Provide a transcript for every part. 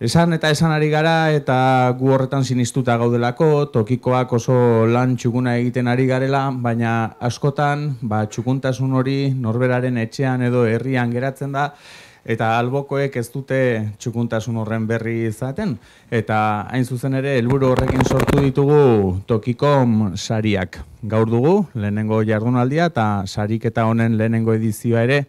Esan eta esan ari gara eta gu horretan sinistuta gaudelako, tokikoak oso lan txukuna egiten ari garela, baina askotan txukuntasun hori norberaren etxean edo herrian geratzen da, eta albokoek ez dute txukuntasun horren berri izaten. Eta hain zuzen ere, helburu horrekin sortu ditugu Tokikom sariak. Gaur dugu, lehenengo jardunaldia eta sariketa honen lehenengo edizioa ere,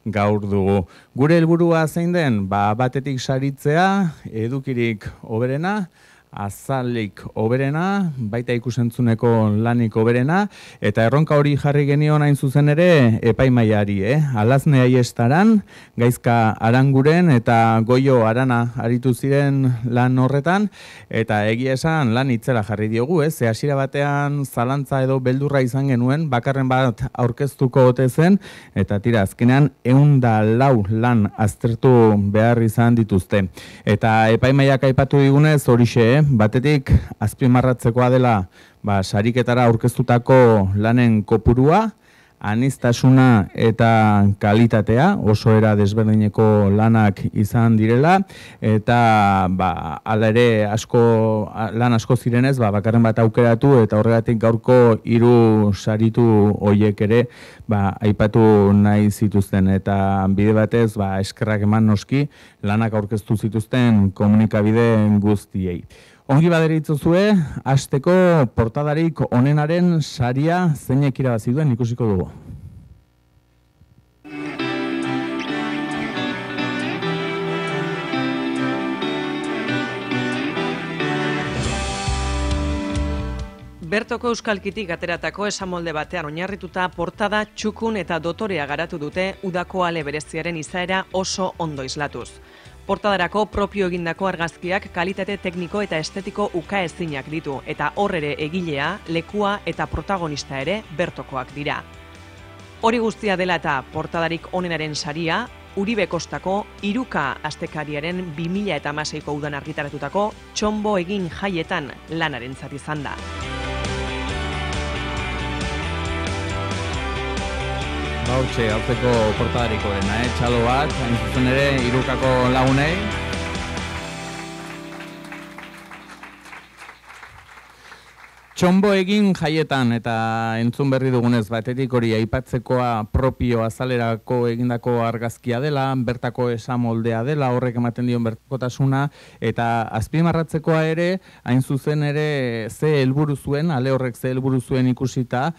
gaur dugu. Gure helburua zein den, batetik saritzea, edukirik hoberena, azalik hoberena, baita ikusentzuneko lanik hoberena, eta erronka hori jarri genion hain zuzen ere epaimaiari, Alazne Aiestaran, Gaizka Aranguren eta Goio Arana aritu ziren lan horretan, eta egia esan lan itzela jarri diogu, ze hasiera batean zalantza edo beldurra izan genuen, bakarren bat aurkeztuko ote zen, eta tira, azkenean 104 lan aztertu behar izan dituzte. Eta epaimaiak aipatu digunez horixe, batetik azpimarratzekoa dela sariketara aurkeztutako lanen kopurua, aniztasuna eta kalitatea, oso era desberdineko lanak izan direla, eta hala ere lan asko zirenez, bakarren bat aukeratu, eta horregatik gaurko 3 saritu horiek ere aipatu nahi zituzten, eta bide batez eskerrak eman noski lanak aurkeztu zituzten komunikabide guztiei. Ongi baderitzuzue, hasteko portadarik onenaren saria zeinek irabazi duen ikusiko dugu. Bertoko euskalkitik ateratako esamolde batean oinarrituta portada txukun eta dotorea garatu dute udako ale bereziaren izaera oso ondo islatuz. Portadarako propio egindako argazkiak kalitate tekniko eta estetiko ukaezinak ditu, eta horrere egilea, lekua eta protagonista ere bertokoak dira. Hori guztia dela eta portadarik onenaren saria, Uribe Kostako 3K astekariaren 2016ko udan argitaratutako txonbo egin jaietan lanarentzat izan da. Hortxe, hauzeko portadariko dena, txalo bat, hain zuzen ere, 3Kako lagunei. Txonbo egin jaietan, eta entzun berri dugunez, batetik hori aipatzekoa propio azalerako egindako argazkia dela, bertako esamoldea dela, horrek ematen dion bertakotasuna, eta azpimarratzekoa ere, hain zuzen ere, ze helburu zuen, ale horrek ze helburu zuen ikusita,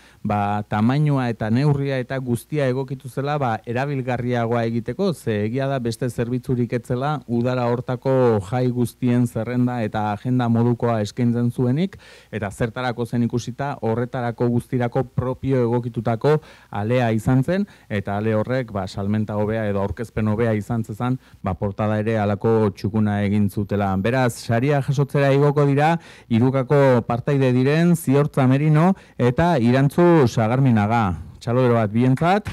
tamainua eta neurria eta guztia egokitu zela, erabilgarriagoa egiteko, ze egia da beste zerbitzurik etzela, udara hortako jai guztien zerrenda eta agenda modukoa eskaintzen zuenik, eta zertara zen ikusita, horretarako guztirako propio egokitutako alea izan zen, eta ale horrek salmenta hobea edo aurkezpen hobea izan zezan, portada ere alako txukuna egin zutela. Beraz, saria jasotzera igoko dira, 3Kako partaide diren, Ziortza Merino eta Irantzu Sagarminaga. Txalodero bat bientzat.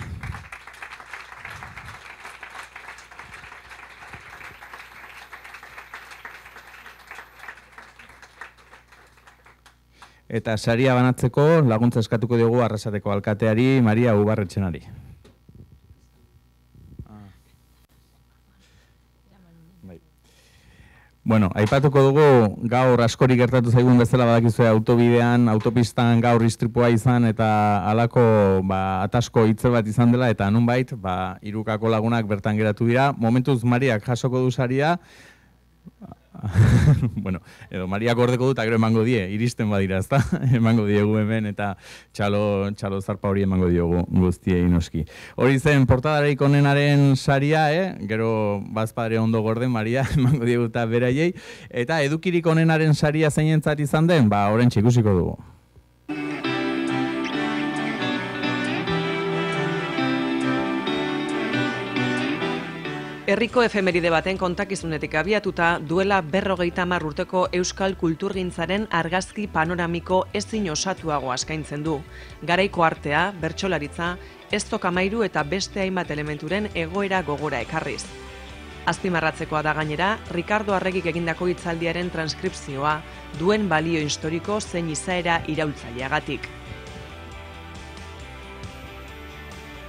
Eta saria banatzeko laguntza eskatuko diogu Arrasateko alkateari, Maria Ubarretxenari. Bueno, aipatuko dugu gaur askori gertatu zaigun bezala badakizue autobidean, autopistan gaur istripua izan eta halako atasko hitzel bat izan dela eta nunbait 3Kako lagunak bertan geratu dira. Momentuz Mariak jasoko du saria. Bueno, edo Mariak ordeko dut, gero emango die, iristen badira, ezta? Emango diegu hemen eta txalo zarpa hori emango diogu guztiei noski. Hori zen portadarik onenaren saria, gero bazpadre ondo gorde Maria emango diegu eta beraiei, eta edukirik onenaren saria zeinentzat izan den, orentxe ikusiko dugu. Herriko efemeride baten kontakizunetik abiatuta duela 50 urteko euskal kulturgintzaren argazki panoramiko ezin osatuagoa eskaintzen du. Garaiko artea, bertsolaritza, eztokamairu eta beste hainbat elementuren egoera gogora ekarriz. Azpimarratzekoa da gainera, Ricardo Arregik egindako hitzaldiaren transkripzioa, duen balio historiko zein izaera iraultzaileagatik.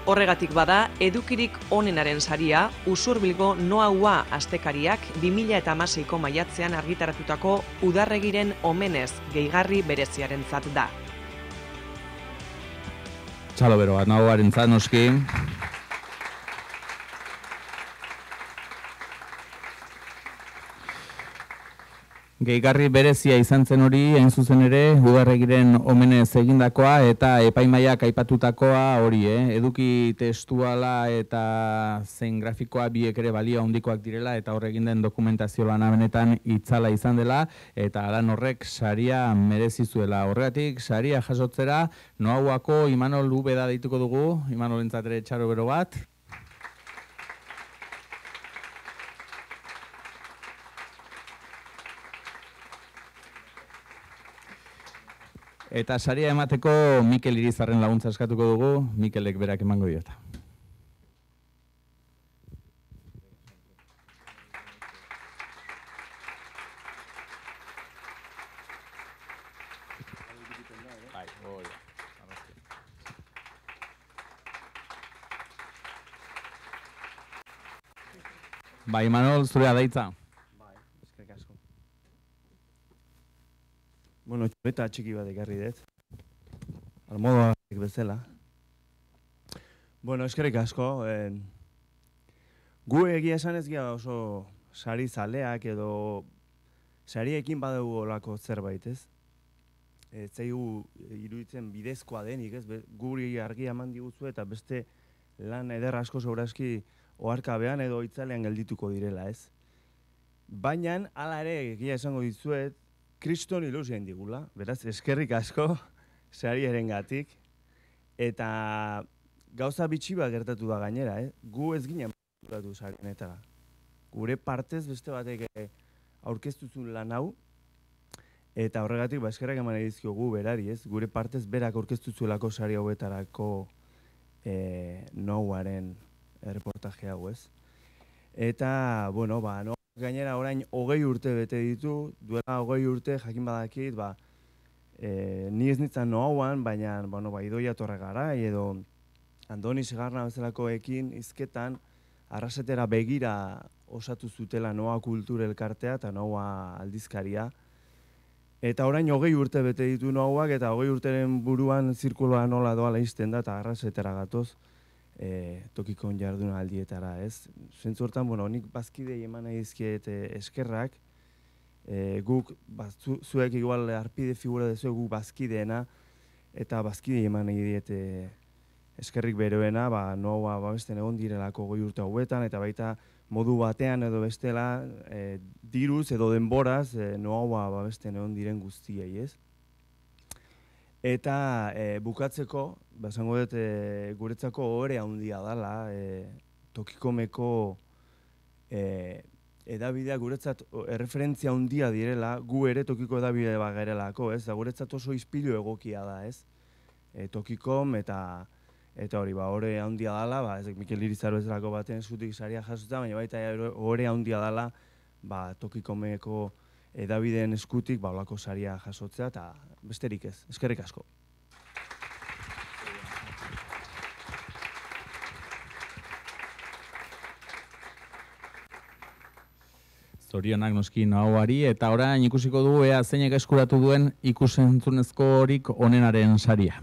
Horregatik bada, edukirik onenaren saria, Usurbilgo Noaua astekariak 2016ko maiatzean argitaratutako Udarregiren omenez gehigarri bereziarentzat da. Txalo bero bat, Noauarentzat noski. Gehigarri berezia izan zen hori, hain zuzen ere, Udarregiren omenez egindakoa eta epaimaiak aipatutakoa hori, eduki testuala eta zein grafikoa biek ere balio handikoak direla eta hor egin den dokumentazio lana benetan itzala izan dela eta lan horrek saria merezi zuela. Horregatik, saria jasotzera, Noauako Imanol Ubeda deituko dugu, Imanolentzat ere txaro bero bat. Eta saria emateko Mikel Irizarren laguntza eskatuko dugu, Mikelek berak emango diota. Bai, Manol, zurea daitza. Bueno, txoreta txiki bat ekarri dut. Almodoak bezala. Bueno, eskerrik asko. Gu egia esan ez gira oso sari zaleak edo sariekin badugu olako zerbait, ez? Ez zaigu iruditzen bidezkoa denik, ez? Guri argia eman diguzu eta beste lan eder asko segurazki oharkabean edo itzalean geldituko direla, ez? Baina, hala ere egia esango dizuet, kriston ilusien digula, beraz, eskerrik asko sariarengatik eta gauza bitxi bat gertatu da gainera, gu ez ginen gertatu sarienetara. Gure partez beste batek aurkeztuzun lan hau eta horregatik eskerrak eman edizkiogu berari, ez? Gure partez berak aurkeztuzuelako sari hauetarako Noauaren reportaje hau, ez? Eta, bueno, gainera orain 20 urte bete ditu, duela 20 urte jakin badakit, ni ez nintzen Noauan, baina Idoia Torregarai edo Andoni Segarna bezalakoekin hizketan arrasetera begira osatu zutela Noa Kultur Elkartea eta Noa aldizkaria. Eta orain 20 urte bete ditu Noauak eta 20 urteren buruan zirkuloa nola doala izten da eta arrasetera gatoz. Tokikon jarduna aldietara, ez? Zentzu hortan, nik bazkidei eman nahi dizkiet eskerrak, guk, zuek igual arpide figura dezuek guk bazkideena, eta bazkidei eman nahi diet eskerrik beroena, Noaua babesten egon direlako 20 urte hauetan, eta baita modu batean edo bestela, diruz edo denboraz, Noaua babesten egon diren guztiei, ez? Eta bukatzeko, esango dut guretzako ohore handia dela, Tokikomeko edabideak guretzat erreferentzia handia direla, gu ere Tokiko edabide bat garelako, ez? Guretzat oso ispilu egokia da, ez? Tokikom eta hori, ohore handia dela, Mikel Irizar bezalako baten eskutik saria jasotza, baina baita ohore handia dela Tokikomeko edabideen eskutik olako saria jasotzea eta besterik ez. Eskerrik asko. Zorionak noski Noauari eta orain ikusiko dugu ea zeinek eskuratu duen ikusentzunezkorik onenaren saria.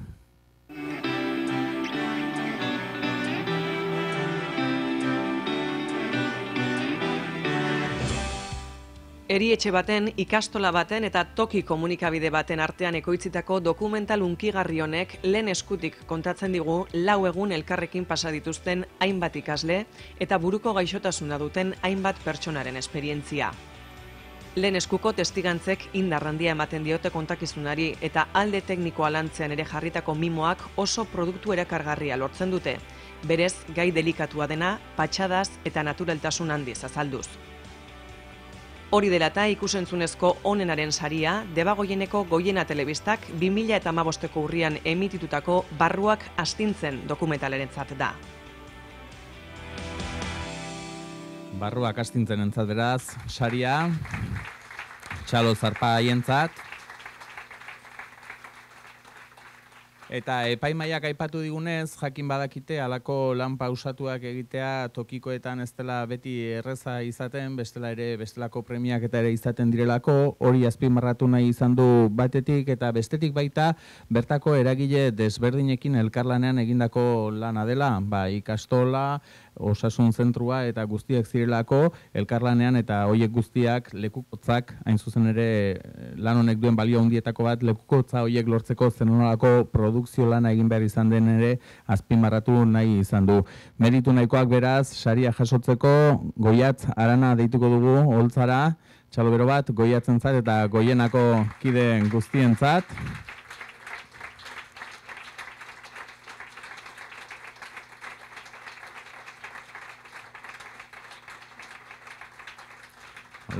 Erietxe baten, ikastola baten eta toki komunikabide baten artean ekoitzitako dokumental hunkigarri honek lehen eskutik kontatzen digu 4 egun elkarrekin pasa dituzten hainbat ikasle eta buruko gaixotasuna duten hainbat pertsonaren esperientzia. Lehen eskuko testigantzek indar handia ematen diote kontakizunari eta alde teknikoa lantzean ere jarritako mimoak oso produktu erakargarria lortzen dute, berez gai delikatua dena, patxadaz eta naturaltasun handiz azalduz. Hori dela eta ikusentzunezko onenaren saria, Debagoieneko Goiena Telebistak 2015ko urrian emititutako Barruak astintzen dokumentalarentzat da. Barruak astintzen entzat beraz, saria, Txalo Zarpa haientzat. Eta epaimaiak aipatu digunez, jakin badakite halako lan pausatuak egitea tokikoetan ez dela beti erreza izaten, bestela ere bestelako premiak eta ere izaten direlako, hori azpimarratu nahi izan du batetik eta bestetik baita bertako eragile desberdinekin elkarlanean egindako lana dela, ikastola, osasun zentrua eta guztiak zirelako elkarlanean eta hoiek guztiak lekukotzak, hain zuzen ere lan honek duen balio handietako bat, lekukotza hoiek lortzeko zenolako produkzio lana egin behar izan den ere azpimarratu nahi izan du. Meritu nahikoak beraz, saria jasotzeko Goiatz Arana deituko dugu holtzara, txalobero bat Goiatzentzat eta Goienako kide guztientzat.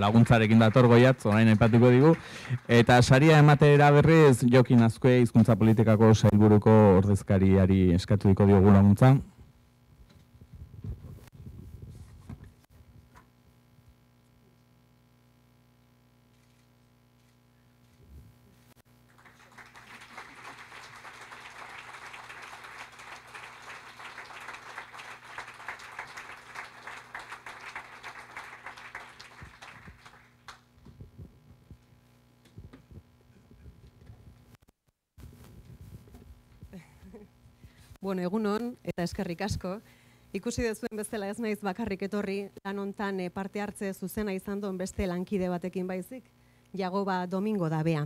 Laguntzarekin dator Goiatz, orain aipatuko digu. Eta saria ematera berriz Jokin Azkue hizkuntza politikako sailburuko ordezkariari eskatuko diogu laguntza. Bueno, egunon eta eskerrik asko. Ikusi dezuen bezala ez naiz bakarrik etorri, lan hontan parte hartze zuzena izan duen beste lankide batekin baizik, Jagoba Domingo da bea.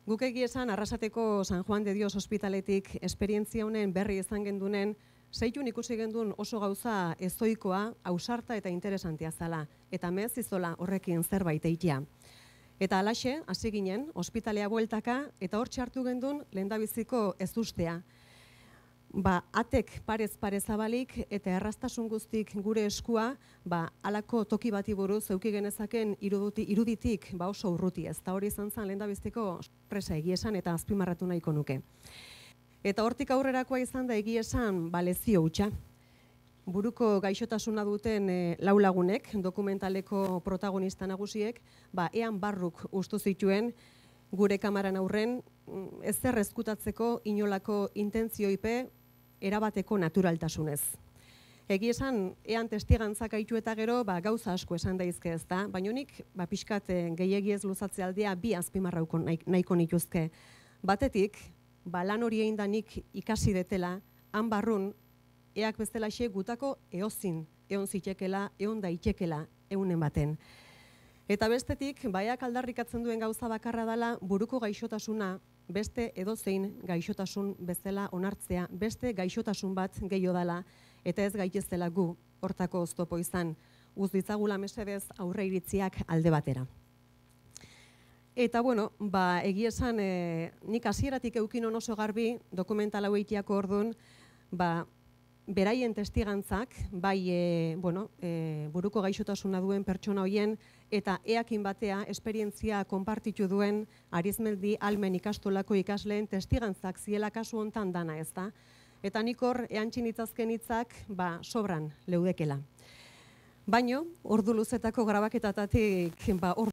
Guk egia esan Arrasateko San Juan de Dios ospitaletik esperientzia honen berri izan gendunen, zeitun ikusi gendun oso gauza ezoikoa, ausarta eta interesantia zala, eta mez izola horrekin zerbait eitea. Eta alaxe, hasi ginen, ospitalea bueltaka, eta hor txartu gendun lehendabiziko ez ustea. Atek parez zabalik eta erraztasun guztik gure eskua, halako toki bati buruz euki genezaken iruditik oso urruti ez. Eta hori izan zen lehendabiziko sorpresa egia esan eta azpimarratu nahiko nuke. Eta hortik aurrerakoa izan da egia esan lezio hutsa. Buruko gaixotasuna duten lau lagunek, dokumentaleko protagonista nagusiek, ean barruk ustu zituen gure kamaran aurren ezer ezkutatzeko inolako intentzioipe erabateko naturaltasunez. Egi esan, ean testigantzak aitu eta gero, gauza asko esan daizke ez da, baina nik, pixkat gehiagiez luzatze aldea bi azpimarrauko nahiko nituzke. Batetik, lan hori egin da nik ikasi detela, han barrun, eak bestelaxe gutako eozin, eon zitekela, eon daitekela, eunen baten. Eta bestetik, baiak aldarrikatzen duen gauza bakarra dela, buruko gaixotasuna, beste edozein gaixotasun bezala onartzea, beste gaixotasun bat gehiago dela, eta ez gaitezela gu hortako oztopo izan, uz ditzagula mesedez aurre iritziak alde batera. Eta bueno, egia esan, nik hasieratik eukinon oso garbi, dokumental hau eitiako orduan, beraien testigantzak, buruko gaixotasuna duen pertsona hoien, eta eakin batea esperientzia konpartitu duen Arizmeldi Almen ikastolako ikasleen testigantzak ziela kasu hontan dana ez da. Eta nik hor eantxin itzazken hitzak sobran leudekela. Baino, ordu luzetako grabaketatatik ordu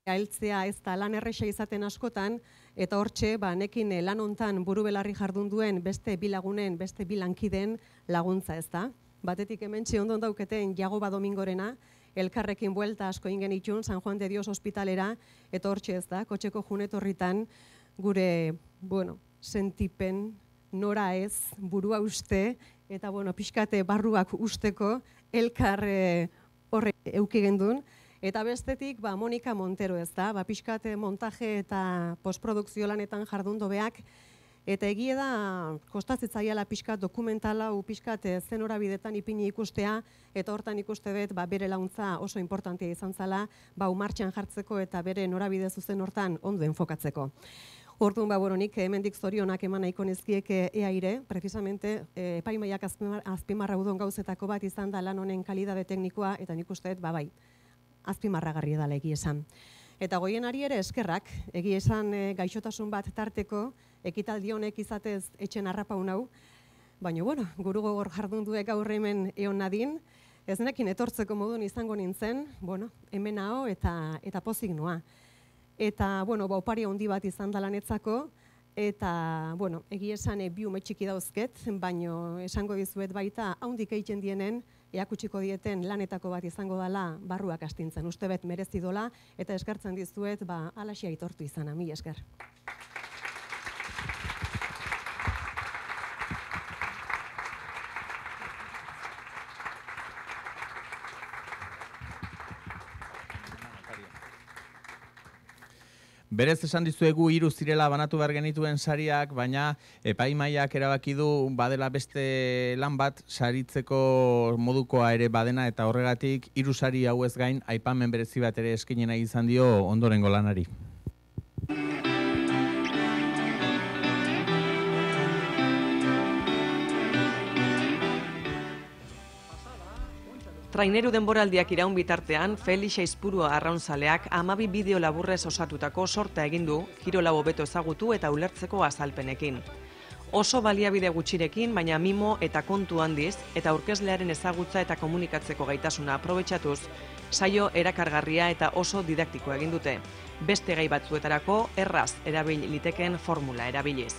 heltzea ez da lan erresa izaten askotan, eta hortxe, nekin lan hontan buru belarri jardun duen beste bi lagunen, beste bi lankideen laguntza ez da. Batetik hementxe ondon dauketen Jagoba Domingorena, elkarrekin buelta asko ingen itxun San Juan de Dios ospitalera, eta hortxe ez da, kotxeko junetorritan gure, sentipen, nora ez, burua uste, eta pixkate barruak usteko elkar horre euki gendun. Eta bestetik, Monika Montero ez da, pixkate montaje eta postprodukzio lanetan jardun dobeak, eta egie da, kostazitzaiala pixkat dokumentala, pixkat zen horabidetan ipini ikustea, eta hortan ikuste dut, bere launtza oso importantia izan zala, martxan jartzeko eta bere norabide zuzen hortan ondo enfokatzeko. Orduan, nik hemendik zorionak eman nahiko nizkieke eaire, precisamente, epaimaiak azpimarra udon gauzetako bat izan da lan honen kalidade teknikoa, eta nik uste dut, azpimarragarri edala egia esan. Eta Goienari ere eskerrak, egia esan gaixotasun bat tarteko, ekitaldi honek izatez etxen harrapau nau, baina, guru gogor jardun duek gaur hemen eon nadin, ez nekin etortzeko modun izango nintzen, hemen hau eta pozik noa. Eta, opari handi bat izan da lanetzako, Eta, bueno, egi esan bi ume txiki dauzket, baino esango dizuet baita, haundik egiten dienen, eakutsiko dieten lanetako bat izango dela barruak astintzen. Uste bet merezi dola, eta eskertzen dizuet, alaxia aitortu izana, mila esker. Berez esan dizuegu 3 zirela banatu behar genituen sariak, baina epaimahaiak erabaki du badela beste lan bat saritzeko modukoa ere badena, eta horregatik 3 sari hauez gain aipamen berezi bat ere eskaini nahi izan dio ondorengo lanari. Traineru denboraldiak iraun bitartean, Felix Aizpurua arraunzaleak 12 bideo laburrez osatutako sorta egin du, kirola hobeto ezagutu eta ulertzeko azalpenekin. Oso baliabide gutxirekin, baina mimo eta kontu handiz, eta aurkezlearen ezagutza eta komunikatzeko gaitasuna aprobetxatuz, saio erakargarria eta oso didaktikoa egin dute. Beste gai batzuetarako erraz erabil liteken formula erabiliz.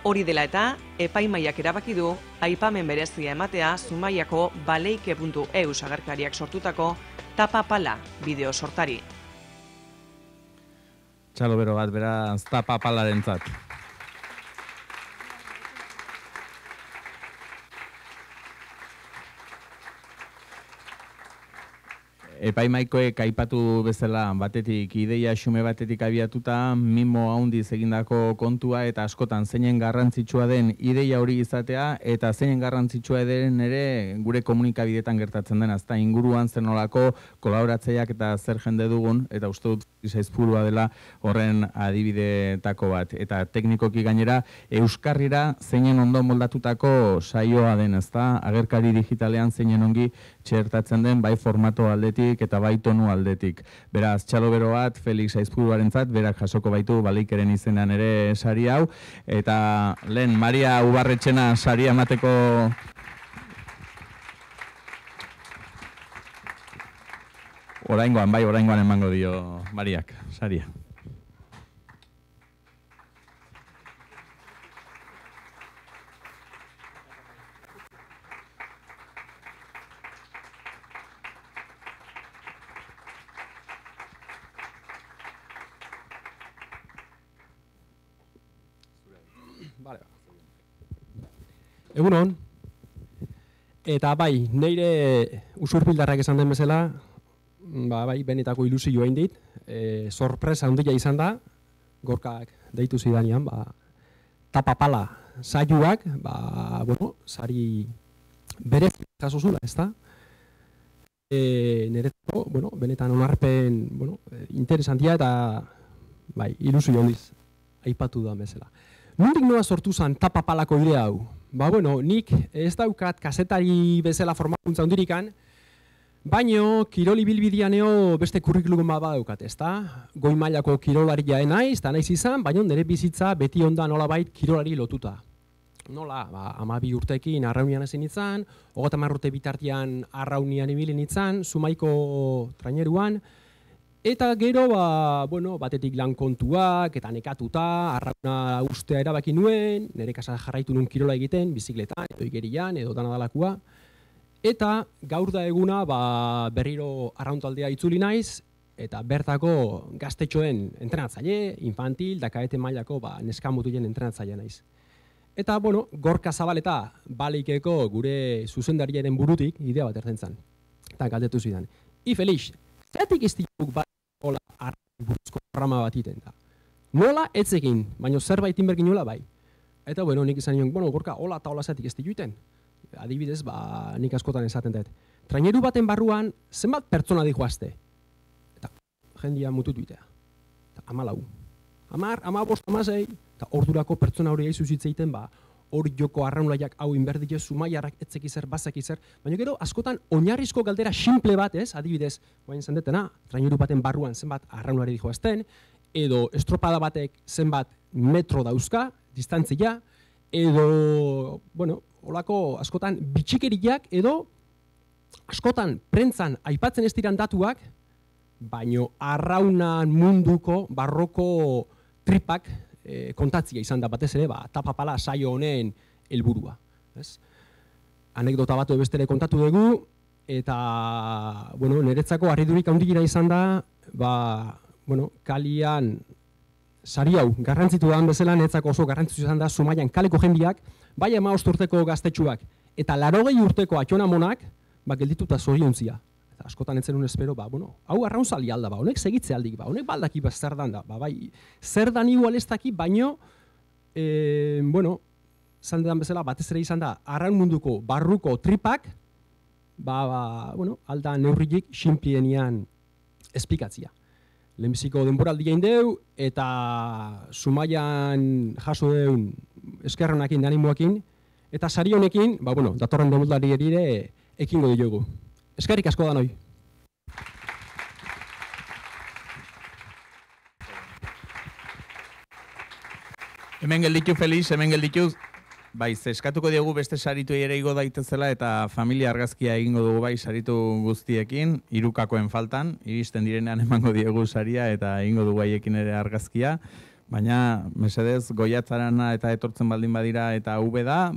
Hori dela eta, epaimaiak erabaki du, aipamen berezia ematea Zumaiako baleike.eu agerkariak sortutako Tapa Pala bideo sortari. Txalo bero bat, beraz, Tapa Palarentzat. Epaimaikoek aipatu bezala batetik ideia xume batetik abiatuta, mimo handiz egindako kontua eta askotan zeinen garrantzitsua den ideia hori izatea eta zeinen garrantzitsua den ere gure komunikabidetan gertatzen den, azta inguruan zenolako kolaboratzaileak eta zer jende dugun, eta uste dut Aizpurua dela horren adibidetako bat. Eta teknikoki gainera euskarrira zeinen ondo moldatutako saioa den, ezta? Agerkari digitalean zeinen ongi txertatzen den bai formato aldetik eta bai tonu aldetik. Beraz, txalo bero bat, Felix Aizpuruarentzat, berak jasoko baitu Baleikeren izenean ere sari hau, eta lehen Maria Ubarretxena saria emateko oraingoan emango dio Mariak saria. Egunon, eta bai, neire usurbildarrak esan den bezala, bai, benetako ilusioa indit, sorpresa handia izan da, Gorkak deitu zidanean, Tapa Pala saioak, sari berez jaso zula, ezta? Niretzako, benetan onarpen, interesantia eta, bai, ilusio handiz aipatu da bezala. Nondik noa sortu zen Tapa Palako idea hau? Nik ez daukat kazetari bezala formakuntza hundirikan, baino kiroli bilbidianeo beste kurrikulum bat daukat, ezta? Goi mailako kirolaria naiz, eta naiz izan, baino nire bizitza beti onda nolabait kirolari lotuta. Nola, 12 urtekin arraunian ezin izan, 30 urte bitartian arraunian ibilin izan, Zumaiko traineruan, eta gero, batetik lan kontuak, eta nekatuta, arrauna ustea erabaki nuen, nire kasa jarraitu nuen kirola egiten, bizikletan, edo igerian, edo danadalakoa. Eta gaur da eguna berriro arrauntaldea itzuli naiz, eta bertako gaztetxoen entrenatzaile, infantil, dakaete mailako neskamutuen entrenatzaile naiz. Eta, Gorka Zabaleta Baleikeko gure zuzendariaren burutik idea bat ertzen zen. Eta galdetu zidan. Felix, zeratik ez ditugu hola buruzko programa bat iten da. Nola etzekin, baina zerbait inbergin nola bai. Eta nik izan nion, Gorka, hola eta hola zetik ez dituten. Adibidez, nik askotan esaten dut. Traineru baten barruan, zenbat pertsona dihoazte? Eta jendia mututu itea. Eta 14. 10, 15, 16, eta ordurako pertsona hori zuzitzeiten, hor joko arraunlaiak hau inberdik ez, Zumaiarrak etzekizer, bazekizer, baina gero askotan oinarrizko galdera simple bat, adibidez, guain zendetena, traineru baten barruan zenbat arraunlari dihoazten, edo estropada batek zenbat metro dauzka, distantzia, edo, holako askotan bitxikeriak edo askotan prentzan aipatzen ez diran datuak, baino arraunan munduko barroko tripak kontatzia izan da batez ere, tapapala saio honen helburua. Anekdota bat bestera kontatu dugu, eta, niretzako harridurik handiena izan da, kalian, sari hau, garrantzitu da bezala, niretzako oso garrantzitu izan da, Zumaian kaleko jendiak, bai 15 urteko gaztetxuak, eta 80 urteko atxonamonak, geldituta zoriontzia. Eta askotan entzerun espero, hau arraunzali alda, honek segitze aldik, honek baldaki zer dan da, zer dan igual ez daki, baino, zaldean bezala, batez ere izan da, arraun munduko barruko tripak, alda neurrilik xinplienian espikatzia. Lehenbiziko denboraldi egin deu, eta Zumaian jaso deun eskerronakin, animoakin, eta sari honekin, datorren demoldari ere ekingo diogu. Eskerrik asko da noi. Hemen gelditu, Felix, hemen gelditu. Eskatuko diogu beste saritu ere igo daitezela eta familia argazkia egingo dugu saritu guztiekin, hirukakoen faltan, iristen direnean emango diegu saria eta egingo dugu haiekin ere argazkia. Baina, mesedez, goiatzarana eta etortzen baldin badira eta ube da,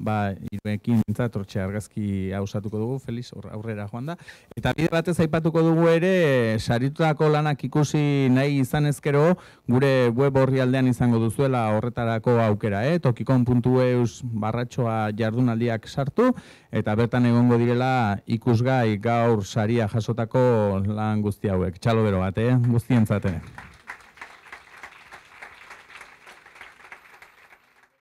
hiruekin etortxe argazki hausatuko dugu, Felix, aurrera joan da. Eta bide batez aipatuko dugu ere, saritutako lanak ikusi nahi izan ezkero, gure web orrialdean izango duzuela horretarako aukera, tokikon.eus/barratxoa jardunaldiak sartu, eta bertan egongo direla ikusgai gaur saria jasotako lan guzti hauek. Txalo bero bat, guztientzat ere.